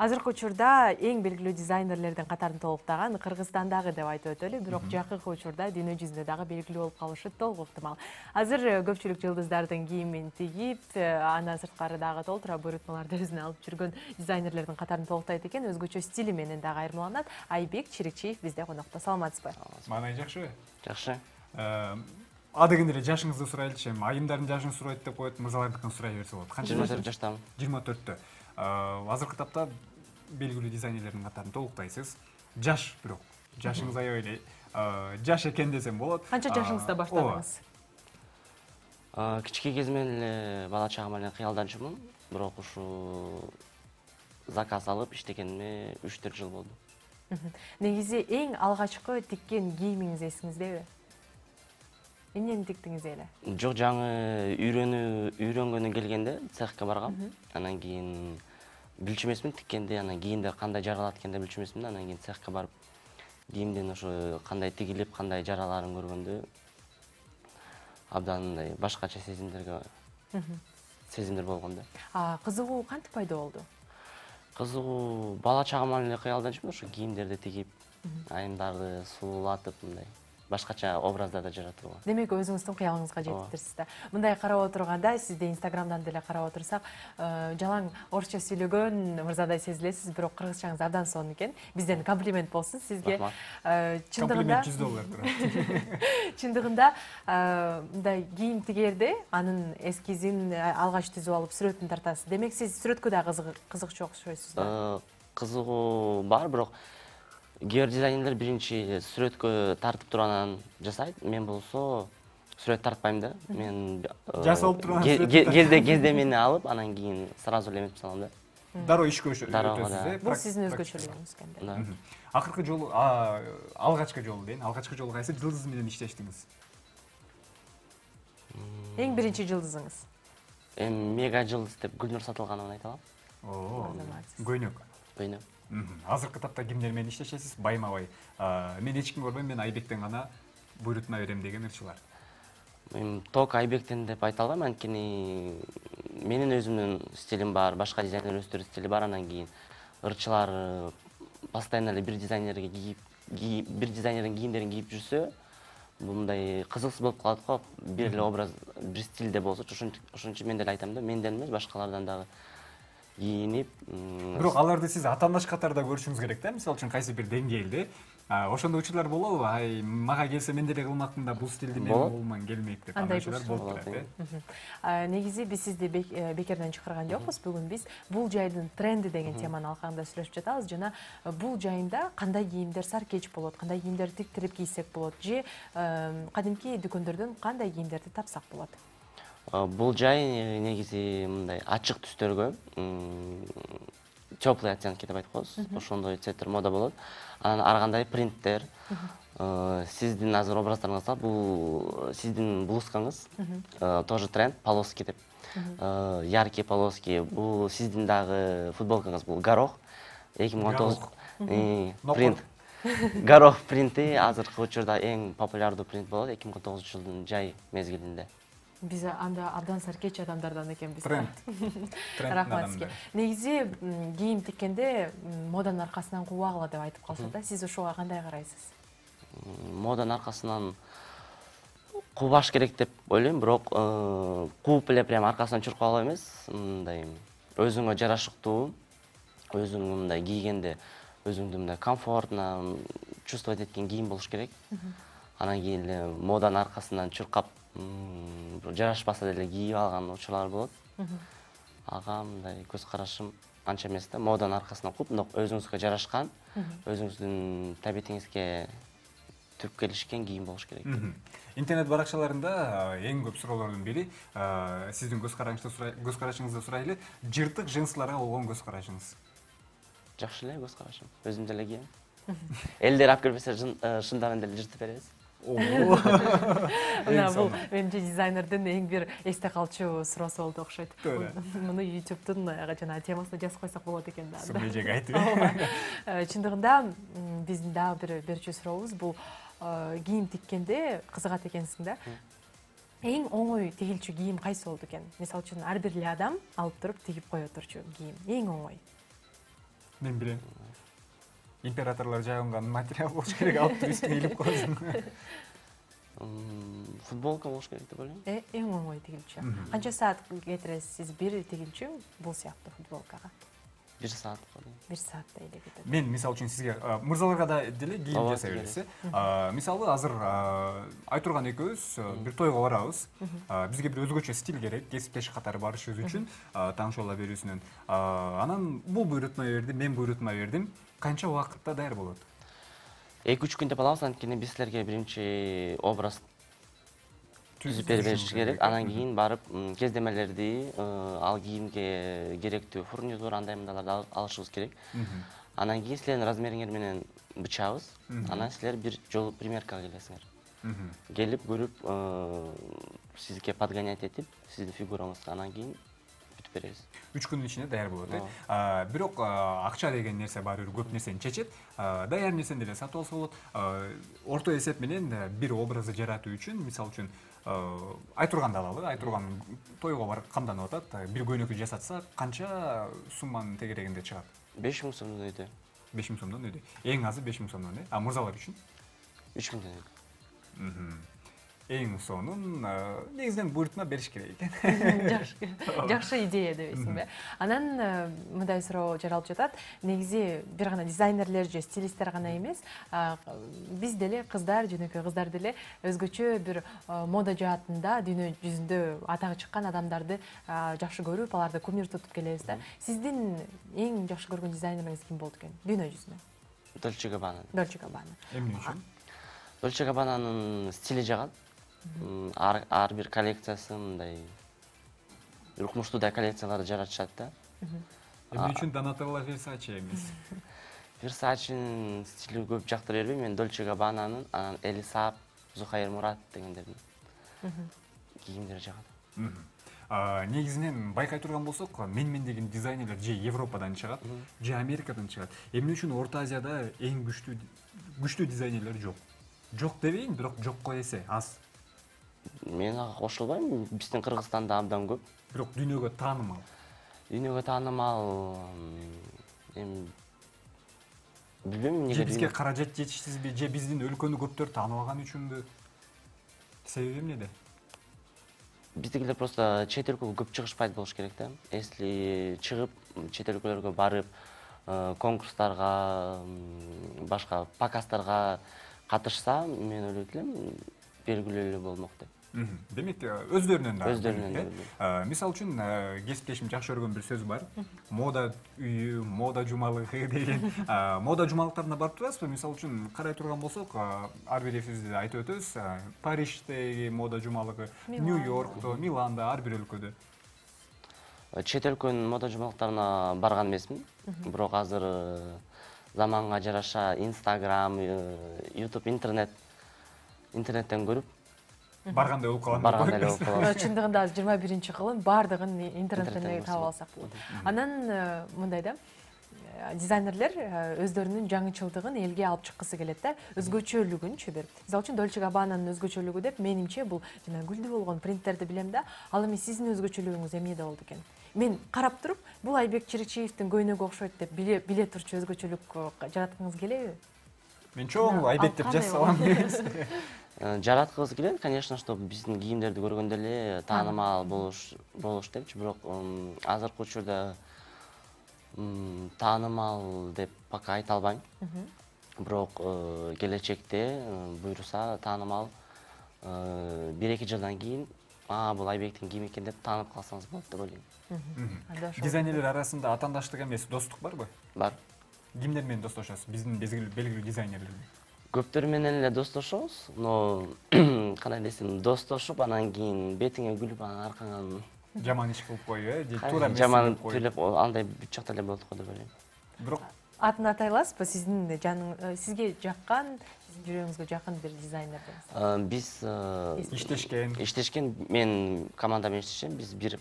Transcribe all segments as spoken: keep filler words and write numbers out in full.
Азыркы учурда эң белгилүү дизайнерлердин катарын толуктаган Кыргызстандагы деп айтып өтөлү, бирок жакынкы учурда дүйнө жүзүндө дагы белгилүү болуп калышы толук ыктымал. Азыр көпчүлүк жылдыздардын кийимин тигип, андан сырткары дагы толтура буйрутмаларды өзүнө алып жүргөн дизайнерлердин катарын толуктайт экен, өзгөчө стили менен дагы айырмаланат. Айбек Чирикчиев бизде конокто. Саламатсызбы? Маанай жакшыбы? Жакшы. Адегенде эле жашыңызды сурайлычы, эми айымдардын жашын сурайт деп коет, мырзалардыкын сурай берсе болот. Канча жаштамын? жыйырма төрттө. Азыркы тапта белгилүү дизайнерлердин катарын толуктайсыз. Жаш бирок. Жашыңыз аябай эле жаш экен десем болот. Канча жашыңызда баштадыңыз? Кичике кезимден эле бала чагым менен кыялданчумун, бирок ушу заказ алып иштегениме үч төрт жыл болду. Негизи эң алгачкы тиккен кийимиңиз эсиңиздеби? Эмнени тиктиңиз эле? Жок, жаңы үйрөнүү үйрөнгөнү келгенде цехке баргам. Анан кийин билчү эмесмин тиккенде, анан кийинде кандай жаралат экенде билчү эмесмин. Анан кийин цехке барып кийимдин ошо кандай тигилип, кандай жараларын көргөндө абдан мындай башкача сезимдерге сезимдер болгон да. А кызыгуу кантип пайда болду? Кызыгуу бала чагыман эле кыялданчумун, ошо кийимдерди тигип, айымдарды сулуулатып мындай башкача образдарда жаратууга. Демек, өзүңүздүн кыялыңызга жетиптирсиз да. Мындай карап отурганда, сизди Инстаграмдан деле карап отурсак, жалаң орусча сүйлөгөн мырзадай сезилесиз, бирок кыргызчаңыз абдан сонун экен. Бизден комплимент болсун сизге. Комплимент жүз доллар турат. Чындыгында мындай кийим тигерде анын эскизин алгач түзүп алып сүрөтүн тартасыз. Демек, сиз сүрөткө да кызыкчу окшойсуз да? Кызыгуу бар, бирок кээ бир дизайнерлер биринчи сүрөткө тартып туруп анан жасайт. Мен болсо сүрөт тартпайм да. Мен жасалып турган кезде кездемени алып, анан кийин сразу эле эметип салам да. Дароо ишке өтөсүз э? Бул сиздин өзгөчөлүгүңүз экен да. Акыркы жолу, алгачкы жолу дейин, алгачкы жолу кайсы жылдыз менен иштештиңиз? Эң биринчи жылдызыңыз? Эми мега жылдыз деп Гүлнур Сатылганованы айта алам. Оо, көйнөк. Көйнөк. Азыркы тапта кимдер менен иштешесиз? Байма-бай. Мен эч ким көрбөйм, мен Айбектен гана буйрутма берем деген ырчылар. Мен ток Айбектен деп айта албайм, анткени менин өзүмдүн стилим бар, башка дизайнер өздөрүнүн стили бар, анан кийин ырчылар постоянно эле бир дизайнерге кийип, бир дизайнердин кийимдерин кийип жүрсө, бул мындай кызыксыз болуп калат го. Бир эле образ, бир стилде болсо, ошон үчүн мен деле айтам да, менден эмес, башкалардан дагы кийинип. Бирок аларды сиз атаандаш катарда көрүшүңүз керек да, мисалы үчүн кайсы бир деңгээлде. Ошондой учурлар болобу? Ай, мага келсе мен деле кылмакмын да, бул стилди мен колуман келмейт деп анашалар болуп турат э. Негизи биз сизди бекерден чакырган жокпуз. Бүгүн биз бул жайдын тренди деген теманы алкагында сүйлөшүп жатабыз жана бул жайында кандай кийимдер саркеч болот, кандай кийимдер тиктирип кийсек болот же кадимки дүкөндөрдөн кандай кийимдерди тапсак болот? Бул жай негизи мындай ачык түстөргө, теплый оттенки деп айтып коебуз. Ошондой цветтер мода болот. Анан ар кандай принттер, сиздин азыр образдарыңызда бул сиздин блузкаңыз тоже тренд, полоски деп. Яркий полоски, бул сиздин дагы футболкаңыз, бул горох. эки миң он тогуз принт. Горох принти азыркы учурда эң популярдуу принт болот эки миң он тогузунчу жылдын жай мезгилинде. Биз анда абдан саркеч адамдардан экенбиз. Тренд. Рахмат сизге. Негизи кийим тиккенде моданын аркасынан кубагыла деп айтып калышат да. Сиз ошого кандай карайсыз? Моданын аркасынан кубаш керек деп ойлойм, бирок кууп эле прям аркасынан чуркап алып эмес, мындай өзүңө жарашыктуу, өзүң мындай кийгенде өзүңдү мындай комфортно чувствовать эткен кийим болуш керек. Анан кийин эле моданын аркасынан чуркап жарашпаса деле кийип алган учурлар болот. Ага мындай көз карашым анча эмес да, моданын аркасынан кууп, өзүңүзгө жарашкан, өзүңүздүн табиетиңизге түп келишкен кийим болуш керек. Интернет баракчаларында эң көп суроолордун бири сиздин көз карашыңызды сурайлы, жыртык джинсыларга болгон көз карашыңыз. Жакшы эле көз карашым, өзүм деле кийем. Элдер алып келбесе шындабын деле жыртып беребиз. Мына бул менимче дизайнердин эң бир эсте калчу суроосу болду окшойт. Муну ютубтун жана темасына жазып койсок болот экен да. Сумежек айтып. Чындыгында биздин дагы бир берчү сурообуз бул кийим тиккенде кызыгат экенсиң да. Эң оңой тигилчү кийим кайсы болду экен? Мисалы үчүн ар бир эле адам алып туруп тигип кое турчу кийим. Эң оңой. Мен билем. Императорлор жайганган материал болуш керек, алып туруп үстүнө илип коесуң. Футболка болуш керек деп ойлойм. Э, эң оңой тигилчү. Канча саат кетиресиз сиз бир тигилчү бул сыяктуу футболкага? бир саатка. бир сааттай эле кетет. Мен мисалы үчүн сизге мырзаларга да деле кийим жасай бересиз. Мисалы азыр Айтурган экөөбүз бир тойго барабыз. Бизге бир өзгөчө стиль керек, кесиптеш катары барышыбыз үчүн таңшол берүүсүнөн. Анан бул буйрутма берди, мен буйрутма бердим. Канча убакытта даяр болот? эки үч күн деп алабыз, анткени биз силерге биринчи образ түзүп бериш керек. Анан кийин барып кездемелерди, ал кийимге керектүү фурнитур андай мындайларды алышыбыз керек. Анан кийин силердин размериңер менен бычабыз. Анан силер бир жолу примеркага келесиңер. Келип көрүп, сизге подгонять этип, сиздин фигураңызга анан кийин бүтүп беребиз. үч күндүн ичинде даяр болот, э. Бирок акча деген нерсе баары бир көп нерсени чечет. Даяр нерсени деле сатып алса болот. Орто эсеп менен бир образды жаратуу үчүн, мисалы үчүн Айтурганды алалы. Айтурган тойго барып камданып атат. Бир көйнөкү жасатса, канча сумманын тегерегинде чыгат? беш миң сомдон өйдө. беш миң сомдон өйдө. Эң азы беш миң сомдон, э? А мырзалар үчүн? үч миңден өйдө. Эң сонун негизинен буйрутма бериш керек экен. Жакшы. Жакшы идея дебейсиңби? Анан мындай суроо жаралып жатат. Негизи бир гана дизайнерлер же стилисттер гана эмес, биз деле кыздар, жөнөкөй кыздар деле өзгөчө бир мода жаатында дүйнө жүзүндө атагы чыккан адамдарды жакшы көрүп, аларды кумир тутуп келебиз да. Сиздин эң жакшы көргөн дизайнериңиз ким болду экен? Дүйнө жүзүндө. Dolce Gabbana. Dolce Gabbana. Эмне үчүн? Dolce Gabbana'нын стили жагат. Ар бир коллекциясы мындай укмуштуудай коллекцияларды жаратышат да. Эмне үчүн Donatella Versace эмес? Versace'нын стили көп жактыра бербейм. Мен Dolce Gabbana'нын, анан Элисап, Зухайыр Мурат дегендердин кийимдери жагат. Негизинен байкай турган болсок, мен-мен деген дизайнерлер же Европадан чыгат, же Америкадан чыгат. Эмне үчүн Орто Азияда эң күчтүү күчтүү дизайнерлер жок? Жок дебейин, бирок жокко эсе аз. Мен ага кошулбайм. Биздин Кыргызстанда абдан көп. Бирок дүйнөгө таанымал. Дүйнөгө таанымал эми билбейм эмнеге. Же бизге каражат жетишсизби, же биздин өлкөнү көптөр тааныбаган үчүнбү? Себеби эмнеде? Биздикилер просто чет өлкөгө көп чыгышпайт болуш керек да. Если чыгып чет өлкөлөргө барып, конкурстарга, башка показдарга катышса, мен ойлойт элем, белгилүү эле болмок деп. Демек, өздөрүнөн да. Өздөрүнөн да. Мисалы үчүн, кесиптешим жакшы көргөн бир сөз бар. Мода үйү, мода жумалыгы деген. Мода жумалыктарына барып турасызбы? Мисалы үчүн, карай турган болсок, ар бирибизди айтып өтөбүз. Париждеги мода жумалыгы, Нью-Йоркто, Миланда, ар бир өлкөдө. Чет өлкөнүн мода жумалыктарына барган эмесмин. Бирок азыр заманга жараша Instagram, YouTube, интернет интернеттен көрүп баргандай болуп калган. Баргандай болуп калган. Чындыгында жыйырма биринчи кылым бардыгын интернеттен таап алсак болот. Анан мындай да, дизайнерлер өздөрүнүн жаңычылдыгын элге алып чыккысы келет да, өзгөчөлүгүнчү бир. Мисалы үчүн Dolce Gabbana'нын өзгөчөлүгү деп менимче бул жана гүлдүү болгон принттерди билем да. Ал эми сиздин өзгөчөлүгүңүз эмнеде болду экен? Мен карап туруп, бул Айбек Чирикчиевдин көйнөгү окшойт деп биле биле турчу өзгөчөлүк жараткыңыз келеби? Мен чоң Айбек деп жазсам. Жараткыбыз келет, конечно, чтобы биздин кийимдерди көргөндө эле таанымал болуш болуш депчи, бирок азыркы учурда таанымал деп пока айта албайм. Бирок келечекте буйруса таанымал бир эки жылдан кийин, а бул Айбектин кийими экен деп таанып калсаңыз болот деп ойлойм. Дизайнерлер арасында атаандаштык эмес, достук барбы? Бар. Кимдер менен достошосуз? Биздин белгилүү дизайнерлер. Көптөр менен эле достошобуз, но кандай десем, достошуп, анан кийин бетиңе күлүп, анан аркаңан жаман иш кылып коюу, э, же туура эмес жаман түйлөп, андай бүт жакта эле болот го деп ойлойм. Бирок атын атай аласызбы? Сиздин жаның сизге жаккан, сиздин жүрөгүңүзгө жакын бир дизайнер. Биз иштешкен. Иштешкен, мен команда менен иштешем. Биз бир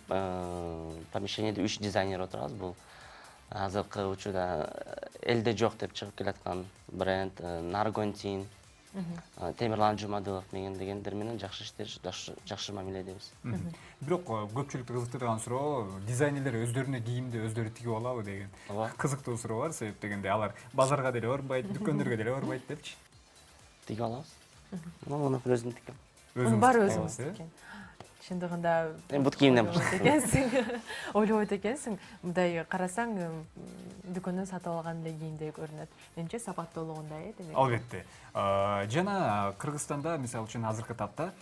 помещениеде үч дизайнер отурабыз. Бул азыркы учурда элде жок деп чыгып келаткан бренд Наргонтин. Темирлан Жумадылов менен дегендер менен жакшы иштер, жакшы мамиледебиз. Бирок көпчүлүктү кызыктырган суроо дизайнерлер өздөрүнө кийимди өздөрү тигип алабы деген кызыктуу суроо бар. Себеп дегенде алар базарга деле барбайт, дүкөндөргө деле барбайт депчи. Тиге алабыз. Муну өзүм тикем. Муну баары өзүңүз тиккен. Чындыгында эми бут кийимден баштайм. Ойлобойт экенсиң. Мындай карасаң, дүкөндөн сатып алган эле кийимдей көрүнөт. Менимче сапаттуулугундай э демек. Албетте. Жана Кыргызстанда мисалы үчүн азыркы тапта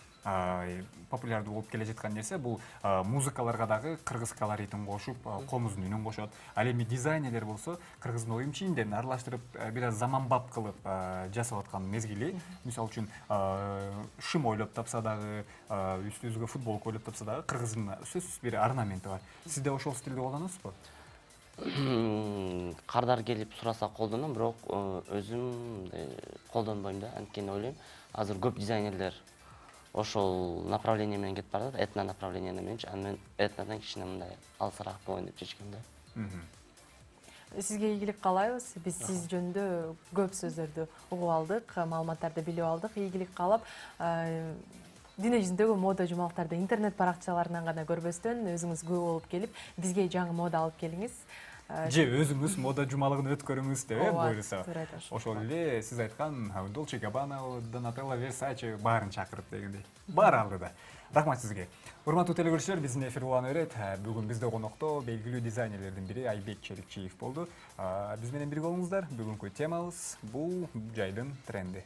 популярдуу болуп келе жаткан нерсе бул музыкаларга дагы кыргыз колоритин кошуп, комуздун үнүн кошот. Ал эми дизайнерлер болсо кыргыздын оюм чийимдерин аралаштырып, бир аз заманбап кылып жасап аткан мезгили. Мисалы үчүн шым ойлоп тапса дагы, үстүбүзгө футболка ойлоп тапса дагы кыргыздын сөзсүз бир орнаменти бар. Сизде ошол стилди колдоносузбу? Кардар келип сураса колдоном, бирок өзүм колдонбойм да. Анткени ойлойм, азыр көп дизайнерлер ошол направление менен кетип баратат, этно направление мененчи. Аны мен этнодон кичине мындай алысыраак болоюн деп чечкем да. Сизге ийгилик каалайбыз. Биз сиз жөнүндө көп сөздөрдү угуп алдык, маалыматтарды билип алдык. Ийгилик каалап, дүйнө жүзүндөгү мода жумалыктарды интернет баракчаларынан гана көрбөстөн өзүңүз күбө болуп келип, бизге жаңы мода алып келиңиз. Же өзүңүз мода жумалыгын өткөрүңүз деп буйруса. Ошол эле сиз айткан Dolce and Gabbana, Donatella, Versace баарын чакырып дегендей. Баары алдыда. Рахмат сизге. Урматтуу телекөрүүчүлөр, биздин эфир уланы берет. Бүгүн бизде конокто белгилүү дизайнерлердин бири Айбек Челикчиев болду. Биз менен бирге болуңуздар. Бүгүнкү темабыз бул жайдын тренди.